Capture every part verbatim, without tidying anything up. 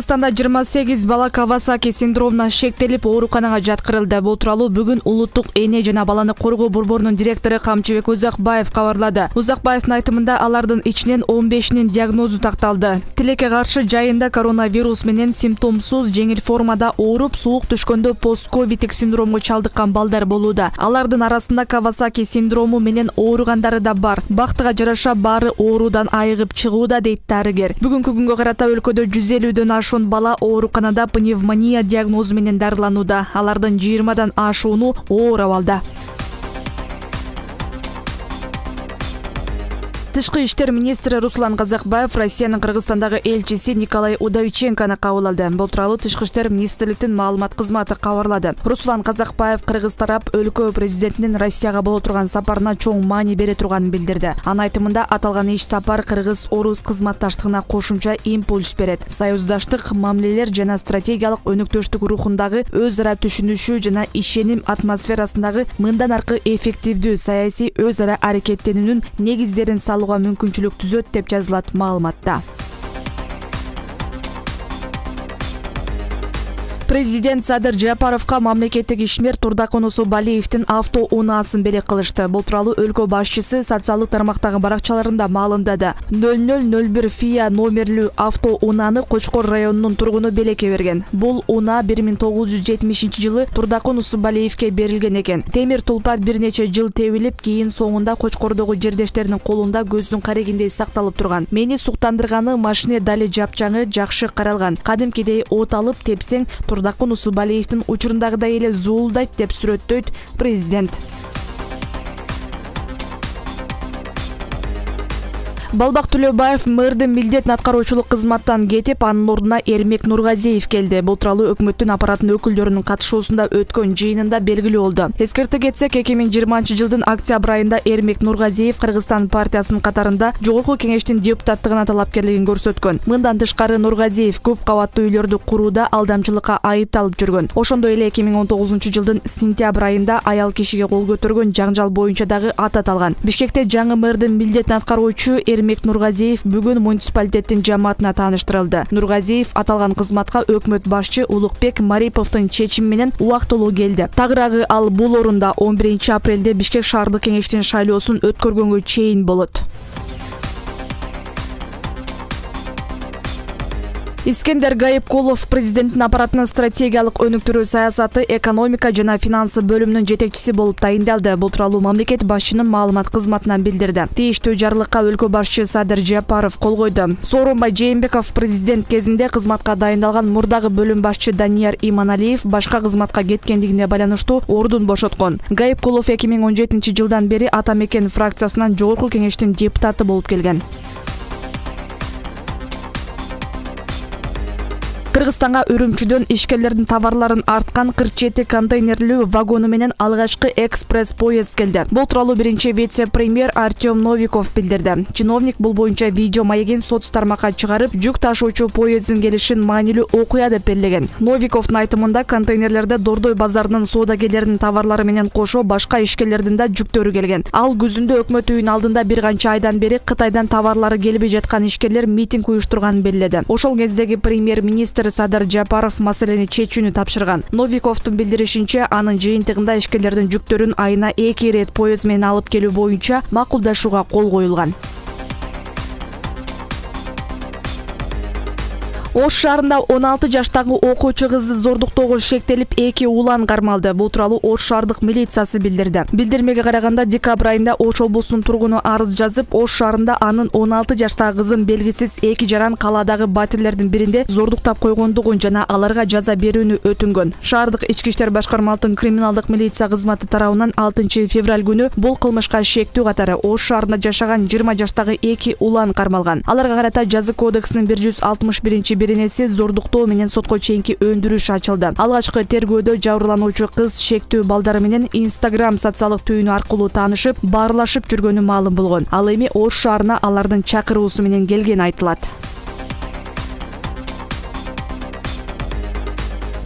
Кыргызстанда жыйырма сегиз бала Кавасаки синдромуна шектелип ооруканага жаткырылды. Бул тууралуу бүгүн Улуттук эне жана баланы коргоо борборунун директору Камчыбек Узакбаев кабарлады. Узакбаевдин айтымында алардын ичинен он бешинин диагнозу такталды. Тилекке каршы жайында коронавирус менен симптомсуз жеңил формада ооруп, суук түшкөндө постковидтик синдромго чалдыккан балдар болууда. Алардын арасында Кавасаки синдрому менен ооругандары да бар. Бактыга жараша баары оорудан айыгып чыгууда, дейт дарыгер. Бүгүнкү күнгө карата өлкөдө жүз элүүдөн ашуун бала ооруканада пневмония диагнозу менен дарыланууда. Алардын жыйырмадан ашууну оор абалда. Тышкы иштер министри Руслан Казакбаев Россиянын Кыргызстандагы элчиси Николай Удовиченкону кабыл алды. Бул тууралуу Тышкы иштер министрликтин маалымат кызматы кабарлады. Руслан Казакбаев кыргыз тарап өлкө президентинин Россияга боло турган сапарына чоң маани бере турганын билдирди. Анын айтымында аталган иш сапар кыргыз-орус кызматташтыгына кошумча импульс берет. Союздаштык, мамилелер жана стратегиялык өнөктөштүк рухундагы өз ара түшүнүшүү жана ишеним атмосферасындагы мындан аркы эффективдүү саясий өз ара аракеттенүүнүн негиздерин салуу мүмкүнчүлүк түзөт деп жазылат маалыматта. Президент Садыр Жапаровго мамлекеттик ишмер Турдакун Усубалиевдин авто унаасын бере кылышты. Бул тууралуу өлкө башчысы социалдык тармактагы баракчаларында маалымдады. ноль ноль ноль бир ФИА номерлүү авто унааны Кочкор районунун тургуну белекке берген. Бул унаа бир миң тогуз жүз жетимишинчи жылы Турдакун Усубалиевге берилген экен. Темир тулпар бир нече жыл тебилип, кийин соңунда Кочкордогу жердештеринин колунда көздүн карегиндей сакталып турган. Мени суктандырганы машине дали жапчаңы жакшы каралган. Кадимкидей от алып тепсең Турдакун Усубалиевдин учурундагыдай эле зуулдайт деп сүрөттөйт президент. Балбак Төлөбаев мэрдин милдетин аткаруучулук кызматтан кетип, анын ордуна Эрмек Нургазиев келди. Бул тууралуу өкмөттүн аппаратынын өкүлдөрүнүн катышуусунда өткөн жыйынында белгилүү болду. Эскерте кетсек, эки миң жыйырманчы жылдын октябрь айында Эрмек Нургазиев Кыргызстан партиясынын катарында Жогорку кеңештин депутаттыгына талапкерлигин көрсөткөн. Мындан тышкары Нургазиев көп кабаттуу үйлөрдү курууда алдамчылыкка айыпталып жүргөн. Ошондой эле эки миң он тогузунчу жылдын сентябрь айында аял кишиге кол көтөргөн жаңжал боюнча дагы ат аталган. Бишкекте жаңы мэрдин милдетин аткаруучу Эрмек Нургазиев бүгүн муниципалитеттин жамаатына тааныштырылды. Нургазиев аталган кызматка өкмөт башчы Улукбек Мариповдун чечими менен убактылуу келди. Тагыраагы ал бул орунда он биринчи апрелде Бишкек шаардык кеңештин шайлоосун өткөргөнгө чейин болот. Искендер Гайыпкулов президенттин аппаратынын стратегиялык өнүктүрүү саясаты, экономика жана финансы бөлүмүнүн жетекчиси болуп тайындалды. Бул тууралуу мамлекет башчынын маалымат кызматынан билдирди. Тийиштүү жарлыкка өлкө башчы Садыр Жапаров кол койду. Сооронбай Жээнбеков президент кезинде кызматка дайындалган мурдагы бөлүм башчы Данияр Иманалиев башка кызматка кеткендигине байланыштуу ордун бошоткон. Гайыпкулов эки миң он жетинчи жылдан бери Ата Мекен фракциясынан Жогорку кеңештин депутаты болуп келген. Кыргызстанга Үрүмчүдөн ишкерлердин товарларын арткан кырк жети контейнерлүү вагону менен алгачкы экспресс поезд келди. Бул тууралуу биринчи вице-премьер Артем Новиков билдирди. Чиновник бул боюнча видео маегин соц тармакка чыгарып, жүк ташуучу поезддин келишин маанилүү окуя деп белгилеген. Новиковдун айтымында контейнерлерде Дордой базарынын соодагерлеринин товарлары менен кошо башка ишкерлердин да жүктөрү келген. Ал күзүндө өкмөт үйүнүн алдында бир канча айдан бери Кытайдан товарлары келбей жаткан ишкерлер митинг уюштурганын белгиледи. Ошол кездеги премьер-министр Садыр Жапаров маселени чечүүнү тапшырган. Новиковдун билдиришинче, анын жыйынтыгында ишкерлердин жүктөрүн айына эки ирет поезд менен алып келүү боюнча макулдашууга кол коюлган. Ош шаарында он алты жаштагы окуучу кызды зордуктоого шектелип, эки улан кармалды. Бул тууралуу Ош шаардык милициясы билдирди. Билдирмеге караганда, декабрь айында Ош облусунун тургуну арыз жазып, Ош шаарында анын он алты жаштагы кызын белгисиз эки жаран калаадагы батирлердин биринде зордуктап койгондугун жана аларга жаза берүүнү өтүнгөн. Шаардык ички иштер башкармалыгынын криминалдык милиция кызматы тарабынан алтынчы февраль күнү бул кылмышка шектүү катары Ош шаарында жашаган жыйырма жаштагы эки улан кармалган. Аларга карата жаза кодексинин бир жүз алтымыш биринчи беренеси зордуктоо менен сотко чейинки өндүрүш ачылды. Алгачкы тергөөдө жабырлануучу кыз шектүү балдары менен Instagram социалдык түйүнү аркылуу таанышып, баарлашып жүргөнү маалым болгон. Ал эми Ош шаарына алардын чакыруусу менен келгени айтылат.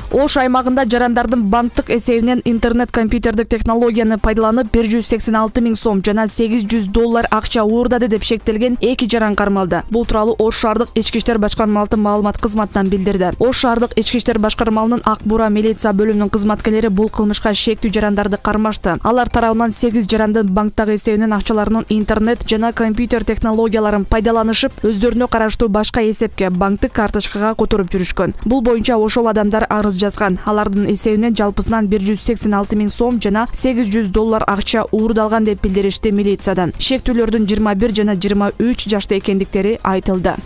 Ош аймагында жарандардын банктык эсебинен интернет компьютердик технологияны пайдаланып бир жүз сексен алты миң сом жана сегиз жүз доллар акча уурдады деп шектелген эки жаран кармалды. Бул тууралуу Ош шаардык ички иштер башкармалыгынын маалымат кызматынан билдирди. Ош шаардык ички иштер башкармалыгынын Ак Бура милиция бөлүмүнүн кызматкерлери бул кылмышка шектүү жарандарды кармашты. Алар тарабынан сегиз жарандын банктагы эсебинен акчаларынын интернет жана компьютер технологияларын пайдаланышып, өздөрүнө караштуу башка эсепке банктык карточкага которуп жүрүшкөн. Бул боюнча ошол адамдар арыз жазган. Алардын эсебинен жалпысынан бир жүз сексен алты миң сом жана сегиз жүз доллар акча уурдалган деп билдиришти милициядан. Шектүүлөрдүн жыйырма бир жана жыйырма үч жашта экендиктери айтылды.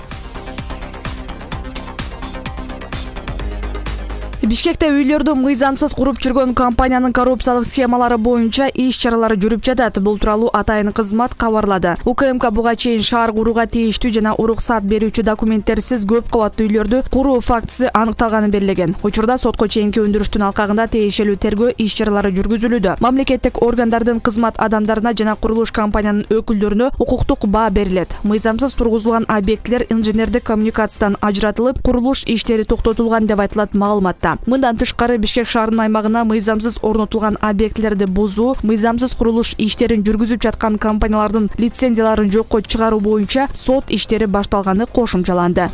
Бишкекте үйлөрдү мыйзамсыз куруп жүргөн компаниянын коррупциялык схемалары боюнча иш чаралары жүрүп жатат. Бул тууралуу атайын кызмат кабарлады. УКМК буга чейин шаар курууга тийиштүү жана уруксат берүүчү документтерсиз көп кабаттуу үйлөрдү куруу фактысы аныкталганын белгилеген. Учурда сотко чейинки өндүрүштүн алкагында тиешелүү тергөө иш чаралары жүргүзүлүүдө. Мамлекеттик органдардын кызмат адамдарына жана курулуш компаниянын өкүлдөрүнө укуктук баа берилет. Мыйзамсыз тургузулган объектилер инженердик коммуникациядан ажыратылып, курулуш иштери токтотулган деп айтылат маалыматта. Мындан тышкары Бишкек шаарынын аймагына мыйзамсыз орнотулган объектилерди бузуу, мыйзамсыз курулуш иштерин жүргүзүп жаткан компаниялардын лицензияларын жокко чыгаруу боюнча сот иштери башталганы кошумчаланды.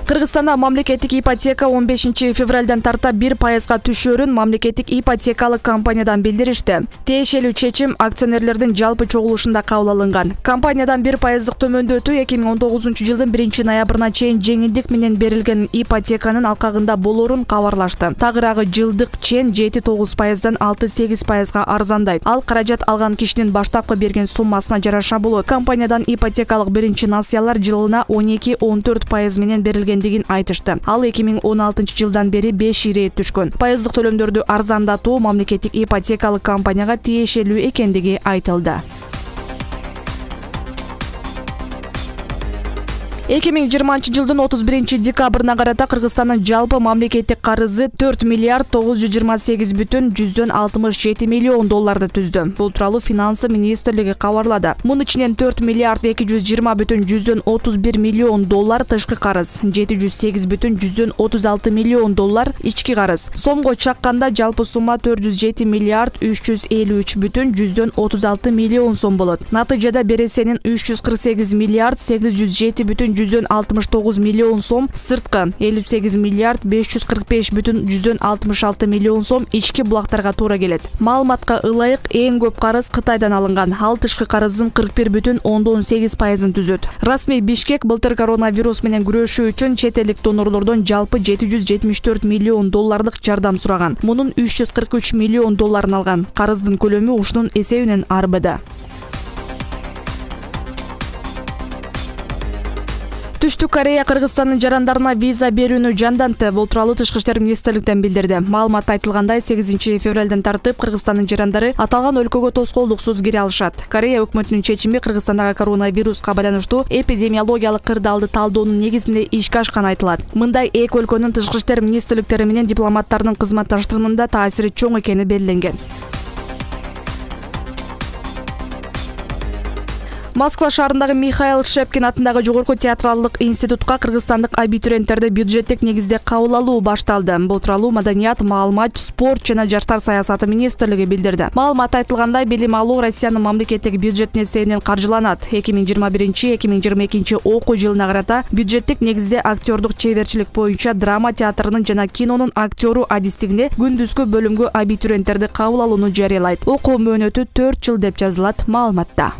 Кыргызстанда мамлекеттик ипотека он бешинчи февралдан тарта бир пайызга түшөөрүн мамлекеттик ипотекалык компаниядан билдиришти. Тиешелүү чечим акционерлердин жалпы чогулушунда кабыл алынган. Компаниядан бир пайыздык төмөндөтүү эки миң он тогузунчу жылдын биринчи ноябрына чейин жеңилдик менен берилген ипотеканын алкагында болорун кабарлашты. Тагыраагы жылдык чен жети тогуз пайыздан алты сегиз пайызга арзандайт. Ал каражат алган кишинин баштапкы берген суммасына жараша болот. Компаниядан ипотекалык биринчи насыялар жылына он эки он төрт пайыз менен берилген дигин айтышты. Ал эки миң он алтынчы жылдан бери беш ирет түшкөн. Пайыздык төлөмдөрдү арзандатуу мамлекеттик ипотекалык компанияга тиешелүү экендиги айтылды. эки миң жыйырманчы жылдын отуз биринчи декабрына карата Кыргызстандын жалпы мамлекеттик карызы төрт миллиард тогуз жүз жыйырма сегиз бүтүн жүздөн алтымыш жети миллион долларды түздү. Бул тууралуу Финансы министрлиги кабарлады. Мунун ичинен төрт миллиард эки жүз жыйырма бүтүн жүздөн отуз бир миллион доллар тышкы карыз, жети жүз сегиз бүтүн жүздөн отуз алты миллион доллар ички карыз. Сомго чакканда жалпы сумма төрт жүз жети миллиард үч жүз элүү үч бүтүн жүздөн отуз алты миллион сом болот. Натыйжада бересенин үч жүз кырк сегиз миллиард сегиз жүз жети бүтүн жүздөн алтымыш тогуз миллион сом, сырткы элүү сегиз миллиард беш жүз кырк беш бүтүн жүздөн алтымыш алты миллион сом ички булактарга туура келет. Маалыматка ылайык эң көп карыз Кытайдан алынган. Ал тышкы карыздын кырк бир бүтүн ондон сегиз пайызын түзөт. Расмий Бишкек былтыр коронавирус менен күрөшүү үчүн чет элдик донорлордон жалпы жети жүз жетимиш төрт миллион доллардык жардам сураган. Мунун үч жүз кырк үч миллион долларын алган. Карыздын көлөмү ушунун эсебинен арбыды. Түштүк Корея Кыргызстандын жарандарына виза берүүнү жандантты. Бул тууралуу Тышкы иштер министрликтен билдирди. Маалыматта айтылгандай, сегизинчи февралдан тартып Кыргызстандын жарандары аталган өлкөгө тоскоолдуксуз кире алышат. Корея өкмөтүнүн чечими Кыргызстандагы коронавируска байланыштуу эпидемиологиялык кырдаалды талдоонун негизинде ишке ашканы айтылат. Мындай эки өлкөнүн тышкы иштер министрликтери менен дипломаттардын кызматташтыгынын да таасири чоң экени белгиленген. Москва шаарындагы Михаил Шепкин атындагы жогорку театралдык институтка кыргызстандык абитуриенттерди бюджеттик негизде кабыл алуу башталды. Бул тууралуу Маданият, маалымат, спорт жана жаштар саясаты министрлиги билдирди. Маалыматта айтылгандай, билим алуу Россиянын мамлекеттик бюджетин эсебинен каржыланат. эки миң жыйырма биринчи эки миң жыйырма экинчи окуу жылына карата бюджеттик негизде актёрдук чеберчилик боюнча драма театрынын жана кинонун актёру адистигинде күндүзгү бөлүмгө абитуриенттерди кабыл алууну жарыялайт. Окуу мөөнөтү төрт жыл деп жазылат маалыматта.